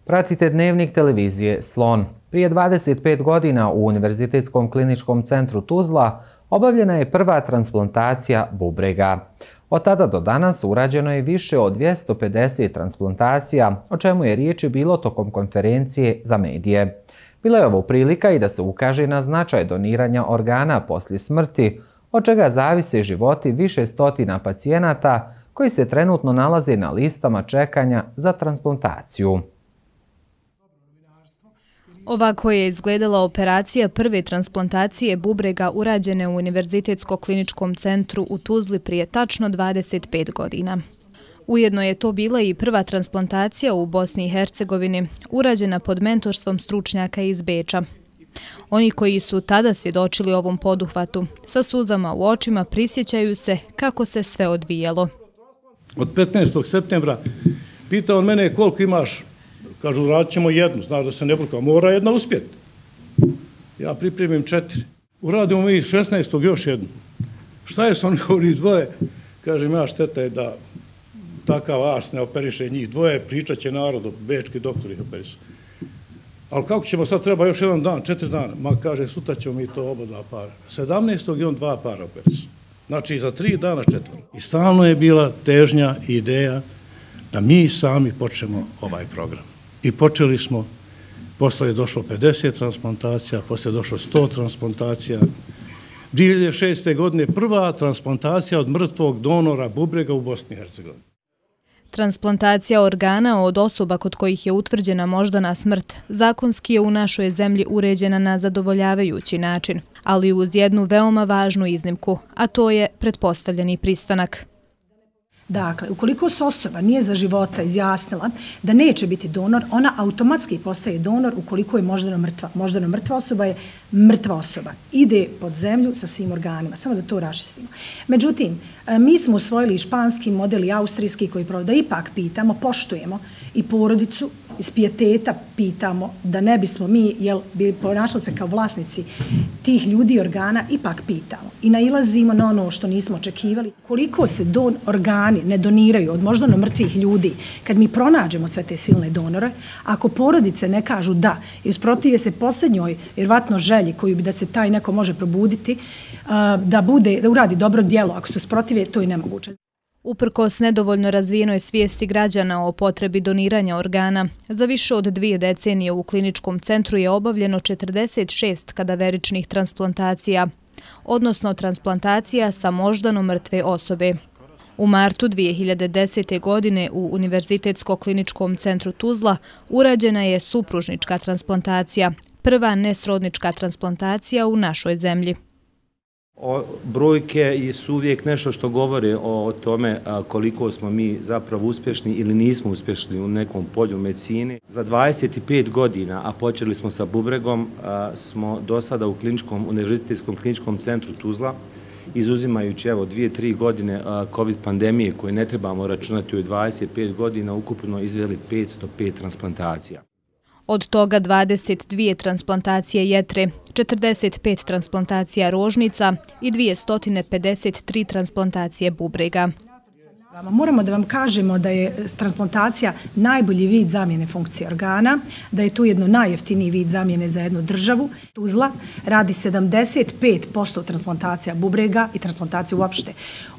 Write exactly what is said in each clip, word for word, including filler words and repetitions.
Pratite dnevnik televizije Slon. Prije dvadeset pet godina u Univerzitetskom kliničkom centru Tuzla obavljena je prva transplantacija bubrega. Od tada do danas urađeno je više od dvjesto pedeset transplantacija, o čemu je riječi bilo tokom konferencije za medije. Bila je ovo prilika i da se ukaže na značaj doniranja organa poslije smrti, od čega zavise životi više stotina pacijenata koji se trenutno nalaze na listama čekanja za transplantaciju. Ovako je izgledala operacija prve transplantacije bubrega urađene u Univerzitetskom kliničkom centru u Tuzli prije tačno dvadeset pet godina. Ujedno je to bila i prva transplantacija u Bosni i Hercegovini, urađena pod mentorstvom stručnjaka iz Beča. Oni koji su tada svjedočili ovom poduhvatu, sa suzama u očima prisjećaju se kako se sve odvijalo. Od petnaestog septembra pitao on mene koliko imaš. Kažu, radit ćemo jednu, znaš da se ne bruka, mora jedna uspjeti. Ja pripremim četiri. Uradimo mi šesnaestog još jednu. Šta je s onih ovih dvoje? Kažem, ja šteta je da takav as ne operiše njih dvoje, pričat će narodu, bečki doktori ih operišu. Ali kako ćemo sad, treba još jedan dan, četiri dana? Ma kaže, sutra ćemo mi to oba dva para. sedamnaestog i on dva para operišu. Znači, za tri dana četvr. I stalno je bila težnja i ideja da mi sami počnemo ovaj program. I počeli smo, posle je došlo pedeset transplantacija, posle je došlo sto transplantacija. dvije hiljade šeste. godine prva transplantacija od mrtvog donora bubrega u Bosni i Hercegovini. Transplantacija organa od osoba kod kojih je utvrđena moždana smrt zakonski je u našoj zemlji uređena na zadovoljavajući način, ali uz jednu veoma važnu iznimku, a to je pretpostavljeni pristanak. Dakle, ukoliko se osoba nije za života izjasnila da neće biti donor, ona automatski postaje donor ukoliko je moždano mrtva. Moždano mrtva osoba je mrtva osoba. Ide pod zemlju sa svim organima. Samo da to raščistimo. Međutim, mi smo usvojili i španski model i austrijski koji pravo da ipak pitamo, poštujemo i porodicu, iz pijeteta pitamo da ne bismo mi, jel bi ponašali se kao vlasnici tih ljudi i organa, ipak pitamo. I nailazimo na ono što nismo očekivali. Koliko se don, organi ne doniraju od moždano mrtvih ljudi, kad mi pronađemo sve te silne donore, ako porodice ne kažu da, i usprotive se posljednjoj, vjerovatno želji koju bi da se taj neko može probuditi, da, bude, da uradi dobro djelo, ako se usprotive, to je nemoguće. Uprkos nedovoljno razvijenoj svijesti građana o potrebi doniranja organa, za više od dvije decenije u kliničkom centru je obavljeno četrdeset šest kadaveričnih transplantacija, odnosno transplantacija sa moždano mrtve osobe. U martu dvije hiljade desete. godine u Univerzitetskom kliničkom centru Tuzla urađena je supružnička transplantacija, prva nesrodnička transplantacija u našoj zemlji. Brojke su uvijek nešto što govore o tome koliko smo mi zapravo uspješni ili nismo uspješni u nekom polju medicine. Za dvadeset pet godina, a počeli smo sa bubregom, smo do sada u kliničkom, Univerzitetskom kliničkom centru Tuzla, izuzimajući evo dvije, tri godine COVID pandemije koje ne trebamo računati u dvadeset pet godina, ukupno izveli petsto pet transplantacija. Od toga dvadeset dvije transplantacije jetre, četrdeset pet transplantacija rožnica i dvjesto pedeset tri transplantacije bubrega. Moramo da vam kažemo da je transplantacija najbolji vid zamjene funkcije organa, da je to jedno najjeftiniji vid zamjene za jednu državu. Tuzla radi sedamdeset pet posto transplantacija bubrega i transplantacije uopšte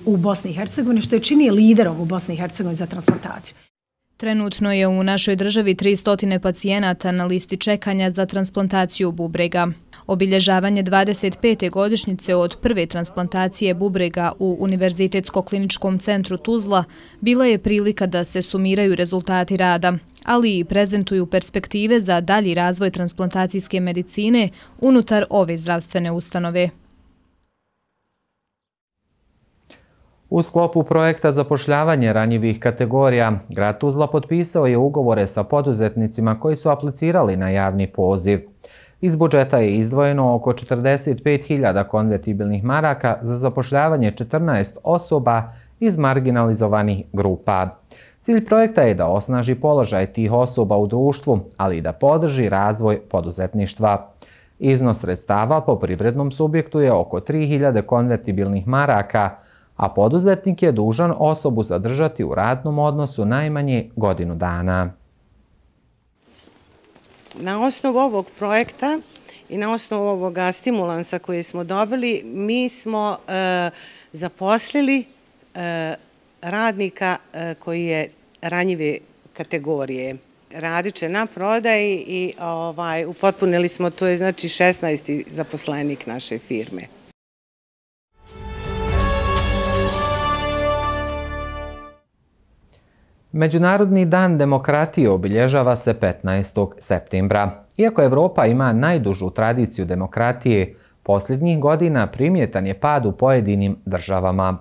u Bosni i Hercegovini, što je čini liderom u Bosni i Hercegovini za transplantaciju. Trenutno je u našoj državi tristo pacijenata na listi čekanja za transplantaciju bubrega. Obilježavanje dvadeset pete godišnjice od prve transplantacije bubrega u Univerzitetskom kliničkom centru Tuzla bila je prilika da se sumiraju rezultati rada, ali i prezentuju perspektive za dalji razvoj transplantacijske medicine unutar ove zdravstvene ustanove. U sklopu projekta zapošljavanje ranjivih kategorija, grad Tuzla potpisao je ugovore sa poduzetnicima koji su aplicirali na javni poziv. Iz budžeta je izdvojeno oko četrdeset pet hiljada konvertibilnih maraka za zapošljavanje četrnaest osoba iz marginalizovanih grupa. Cilj projekta je da osnaži položaj tih osoba u društvu, ali i da podrži razvoj poduzetništva. Iznos sredstava po privrednom subjektu je oko tri hiljade konvertibilnih maraka, a poduzetnik je dužan osobu zadržati u radnom odnosu najmanje godinu dana. Na osnovu ovog projekta i na osnovu ovoga stimulansa koje smo dobili, mi smo zaposlili radnika koji je ranjive kategorije. Radit će na prodaji i upotpunili smo, to je znači šesnaesti zaposlenik naše firme. Međunarodni dan demokratije obilježava se petnaestog septembra. Iako Evropa ima najdužu tradiciju demokratije, posljednjih godina primjetan je pad u pojedinim državama.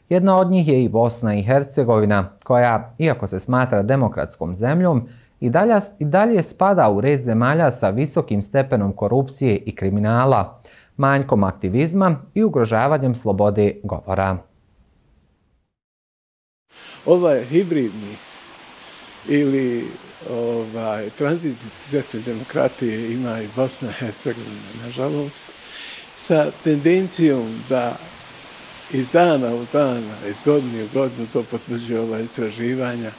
Jedna od njih je i Bosna i Hercegovina, koja, iako se smatra demokratskom zemljom, i dalje, i dalje spada u red zemalja sa visokim stepenom korupcije i kriminala, manjkom aktivizma i ugrožavanjem slobode govora. Ovaj hibridni ili ovaj, tranzicijski stepen demokratije ima i Bosna i Hercegovina, nažalost, sa tendencijom da iz dana u dan, iz godine u godinu, to potvrđuje ova istraživanja,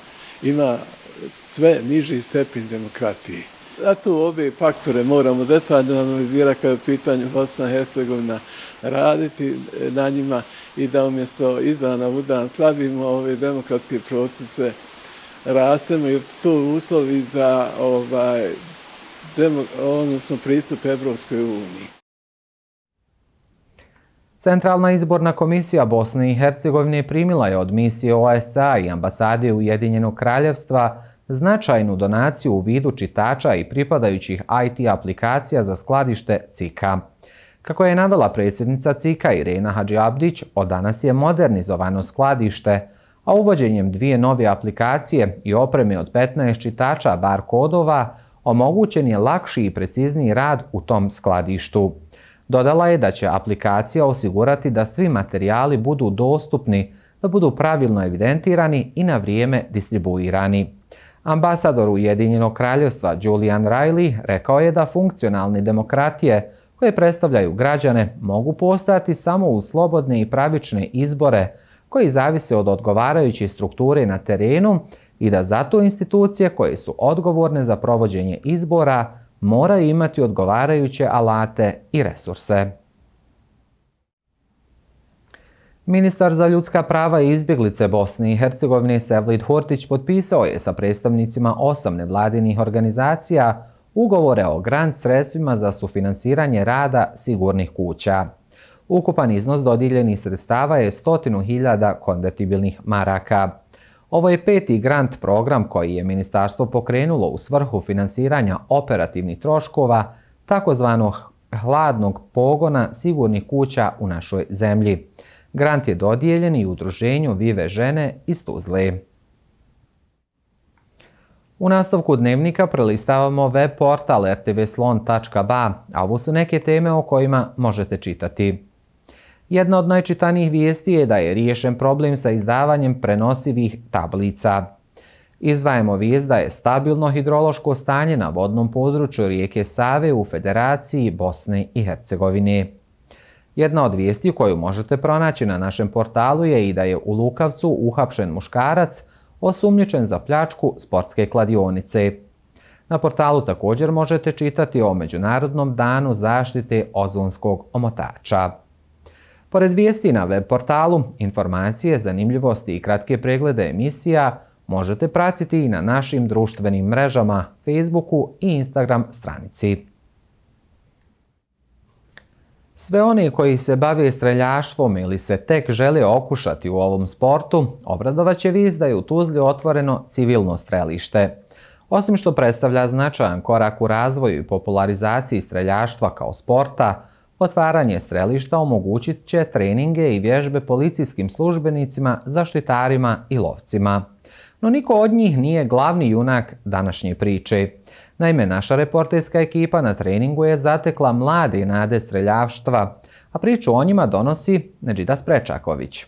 ima sve niži stepen demokratije. Zato ove faktore moramo detaljno analizirati kada je u pitanju Bosna i Hercegovina, raditi na njima i da umjesto iz dana u dan slavimo ove demokratske procese, rastemo jer su to uslovi za ovaj, demo, odnosno pristup Evropskoj uniji. Centralna izborna komisija Bosne i Hercegovine primila je od misije O E S C A i ambasade Ujedinjenog kraljevstva značajnu donaciju u vidu čitača i pripadajućih I T aplikacija za skladište C I K A. Kako je navela predsjednica C I K A Irena Hadžiabdić, od danas je modernizovano skladište, a uvođenjem dvije nove aplikacije i opreme od petnaest čitača bar kodova omogućen je lakši i precizniji rad u tom skladištu. Dodala je da će aplikacija osigurati da svi materijali budu dostupni, da budu pravilno evidentirani i na vrijeme distribuirani. Ambasador Ujedinjenog kraljevstva Julian Riley rekao je da funkcionalne demokratije koje predstavljaju građane mogu postojati samo uz slobodne i pravične izbore koji zavise od odgovarajuće strukture na terenu i da zato institucije koje su odgovorne za provođenje izbora moraju imati odgovarajuće alate i resurse. Ministar za ljudska prava i izbjeglice Bosne i Hercegovine Sevlid Hurtić potpisao je sa predstavnicima osam nevladinih organizacija ugovore o grant sredstvima za sufinansiranje rada sigurnih kuća. Ukupan iznos dodijeljenih sredstava je stotinu hiljada konvertibilnih maraka. Ovo je peti grant program koji je ministarstvo pokrenulo u svrhu finansiranja operativnih troškova takozvanog hladnog pogona sigurnih kuća u našoj zemlji. Grant je dodijeljen i udruženju Vive žene iz Tuzle. U nastavku dnevnika prelistavamo web portal r t v slon tačka b a, a ovo su neke teme o kojima možete čitati. Jedna od najčitanijih vijesti je da je riješen problem sa izdavanjem prenosivih tablica. Izdvajamo vijest da je stabilno hidrološko stanje na vodnom području rijeke Save u Federaciji Bosne i Hercegovine. Jedna od vijesti koju možete pronaći na našem portalu je i da je u Lukavcu uhapšen muškarac osumnjičen za pljačku sportske kladionice. Na portalu također možete čitati o Međunarodnom danu zaštite ozonskog omotača. Pored vijesti na web portalu, informacije, zanimljivosti i kratke preglede emisija možete pratiti i na našim društvenim mrežama, Facebooku i Instagram stranici. Sve oni koji se bave streljaštvom ili se tek žele okušati u ovom sportu, obradovaće vijest da je u Tuzli otvoreno civilno strelište. Osim što predstavlja značajan korak u razvoju i popularizaciji streljaštva kao sporta, otvaranje strelišta omogućit će treninge i vježbe policijskim službenicima, zaštitarima i lovcima. No niko od njih nije glavni junak današnje priče. Naime, naša reporterska ekipa na treningu je zatekla mlade nade streljavštva, a priču o njima donosi Nedžida Sprečaković.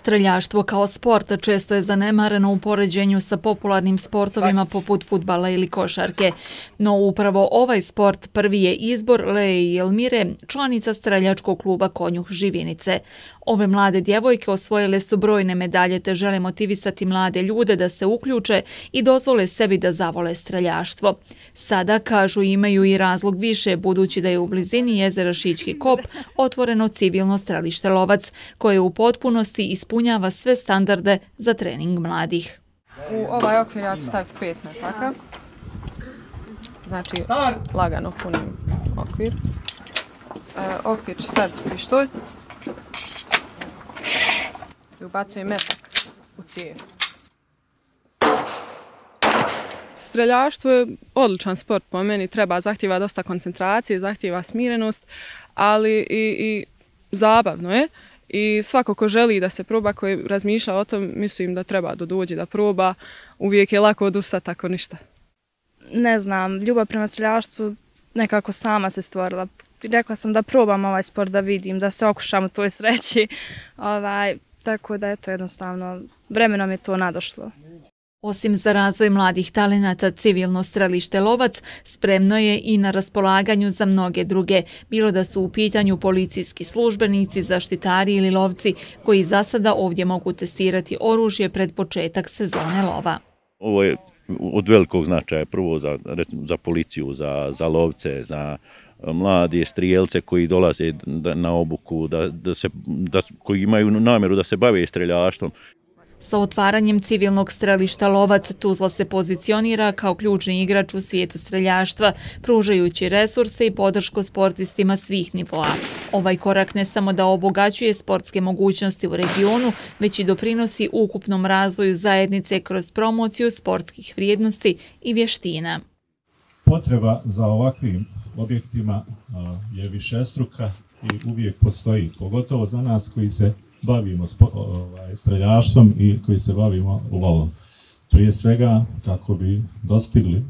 Streljaštvo kao sport često je zanemareno u poređenju sa popularnim sportovima poput fudbala ili košarke. No upravo ovaj sport prvi je izbor Leje i Elmire, članica streljačkog kluba Konjuh Živinice. Ove mlade djevojke osvojile su brojne medalje te žele motivisati mlade ljude da se uključe i dozvole sebi da zavole streljaštvo. Sada, kažu, imaju i razlog više budući da je u blizini jezera Šićki kop otvoreno civilno strelište Lovac, koje u potpunosti ispunjava sve standarde za trening mladih. U ovaj okvir ja ću staviti pet metaka. Znači, lagano punim okvir. E, okvir ću staviti pištolj. I ubacujem metak u cijev. Streljaštvo je odličan sport po meni, treba, zahtjeva dosta koncentracije, zahtjeva smirenost, ali i, i zabavno je. I svako ko želi da se proba, koji razmišlja o tom, mislim da treba da dođe da proba, uvijek je lako odustati ako ništa. Ne znam, ljubav prema streljaštvu nekako sama se stvorila. Rekla sam da probam ovaj sport, da vidim, da se okušam u toj sreći. Ovaj, tako da je to jednostavno, vremenom je to nadošlo. Osim za razvoj mladih talenata, civilno strelište Lovac spremno je i na raspolaganju za mnoge druge, bilo da su u pitanju policijski službenici, zaštitari ili lovci, koji za sada ovdje mogu testirati oružje pred početak sezone lova. Ovo je od velikog značaja prvo za, za policiju, za, za lovce, za mlade strijelce koji dolaze na obuku, da, da se, da, koji imaju namjeru da se bave streljaštvom. Sa otvaranjem civilnog strelišta Lovac, Tuzla se pozicionira kao ključni igrač u svijetu streljaštva, pružajući resurse i podršku sportistima svih nivoa. Ovaj korak ne samo da obogaćuje sportske mogućnosti u regionu, već i doprinosi ukupnom razvoju zajednice kroz promociju sportskih vrijednosti i vještina. Potreba za ovakvim objektima je višestruka i uvijek postoji, pogotovo za nas koji se bavimo streljaštvom i koji se bavimo lovom. Prije svega kako bi dostigli,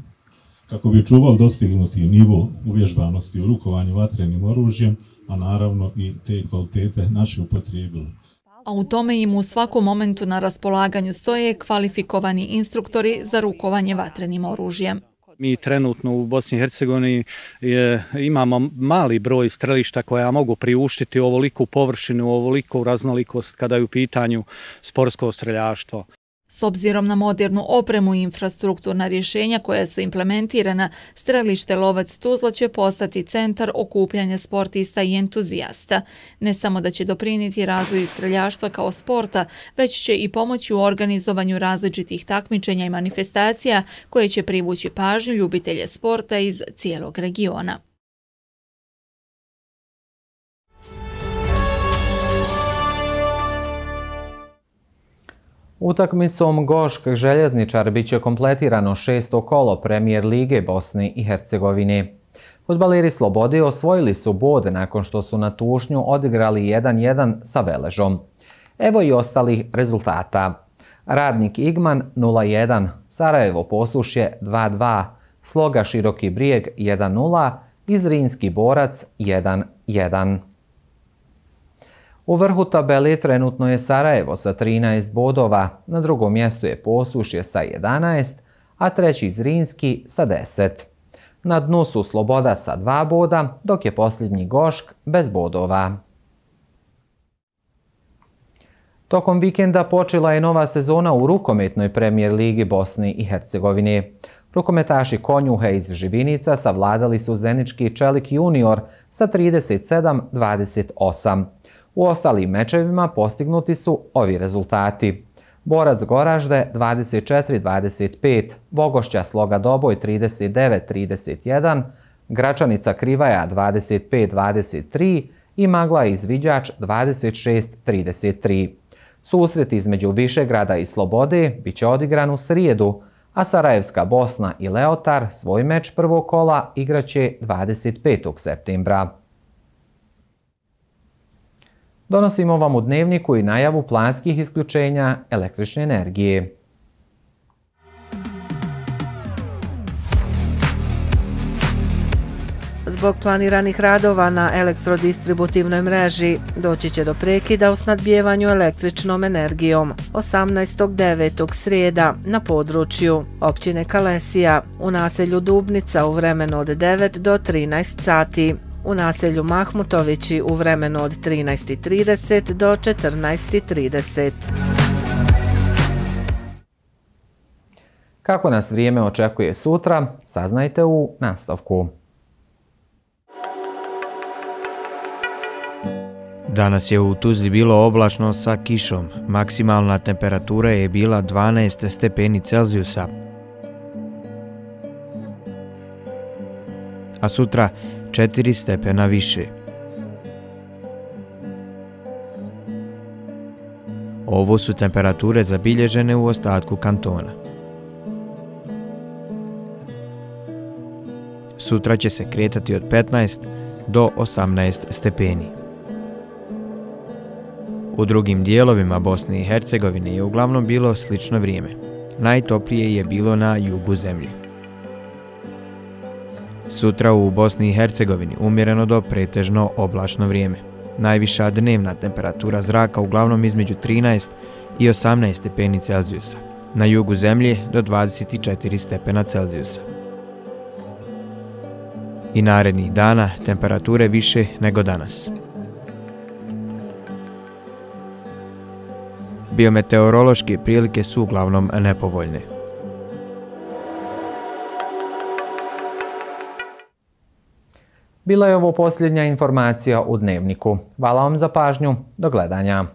kako bi čuvali dostignuti nivo uvježbanosti u rukovanju vatrenim oružjem, a naravno i te kvalitete naše upotrijebili. A u tome im u svakom momentu na raspolaganju stoje kvalifikovani instruktori za rukovanje vatrenim oružjem. Mi trenutno u Bosni i Hercegovini imamo mali broj strelišta koja mogu priuštiti ovoliku površinu, ovoliku raznolikost kada je u pitanju sportsko streljaštvo. S obzirom na modernu opremu i infrastrukturna rješenja koja su implementirana, strelište Lovac Tuzla će postati centar okupljanja sportista i entuzijasta. Ne samo da će doprinijeti razvoju streljaštva kao sporta, već će i pomoći u organizovanju različitih takmičenja i manifestacija koje će privući pažnju ljubitelje sporta iz cijelog regiona. Utakmicom Gošk Željezničar biće kompletirano šesto kolo Premijer Lige Bosne i Hercegovine. Fudbaleri Slobode osvojili su bod nakon što su na Tušnju odigrali jedan jedan sa Veležom. Evo i ostalih rezultata. Radnik Igman nula jedan, Sarajevo Posušje dva dva, Sloga Široki Brijeg jedan nula i Zrinski Borac jedan jedan. U vrhu tabeli trenutno je Sarajevo sa trinaest bodova, na drugom mjestu je Posušje sa jedanaest, a treći Zrinski sa deset. Na dnu su Sloboda sa dva boda, dok je posljednji Gošk bez bodova. Tokom vikenda počela je nova sezona u rukometnoj Premijer Ligi Bosne i Hercegovine. Rukometaši Konjuha iz Živinica savladali su Zenički Čelik junior sa trideset sedam dvadeset osam. U ostalim mečevima postignuti su ovi rezultati. Borac Goražde dvadeset četiri dvadeset pet, Vogošća Sloga Doboj trideset devet trideset jedan, Gračanica Krivaja dvadeset pet dvadeset tri i Magla Izviđač dvadeset šest trideset tri. Susret između Višegrada i Slobode biće odigran u srijedu, a Sarajevska Bosna i Leotar svoj meč prvog kola igraće dvadeset petog septembra. Donosimo vam u dnevniku i najavu planskih isključenja električne energije. zbog planiranih radova na elektrodistributivnoj mreži doći će do prekida u snadbijevanju električnom energijom osamnaestog devetog srijeda na području općine Kalesija, u naselju Dubnica u vremenu od devet do trinaest sati, u naselju Mahmutovići u vremenu od trinaest trideset do četrnaest trideset. Kako nas vrijeme očekuje sutra, saznajte u nastavku. Danas je u Tuzli bilo oblačno sa kišom. Maksimalna temperatura je bila dvanaest stepeni Celzijusa. A sutra četiri stepena više. Ovo su temperature zabilježene u ostatku kantona. Sutra će se kretati od petnaest do osamnaest stepeni. U drugim dijelovima Bosne i Hercegovine je uglavnom bilo slično vrijeme. Najtoplije je bilo na jugu zemlje. Sutra u Bosni i Hercegovini umjereno do pretežno oblačno vrijeme. Najviša dnevna temperatura zraka uglavnom između trinaest i osamnaest stepeni Celzijusa. Na jugu zemlje do dvadeset četiri stepena Celzijusa. I narednih dana temperature više nego danas. Biometeorološke prilike su uglavnom nepovoljne. Bila je ovo posljednja informacija u Dnevniku. Hvala vam za pažnju. Do gledanja.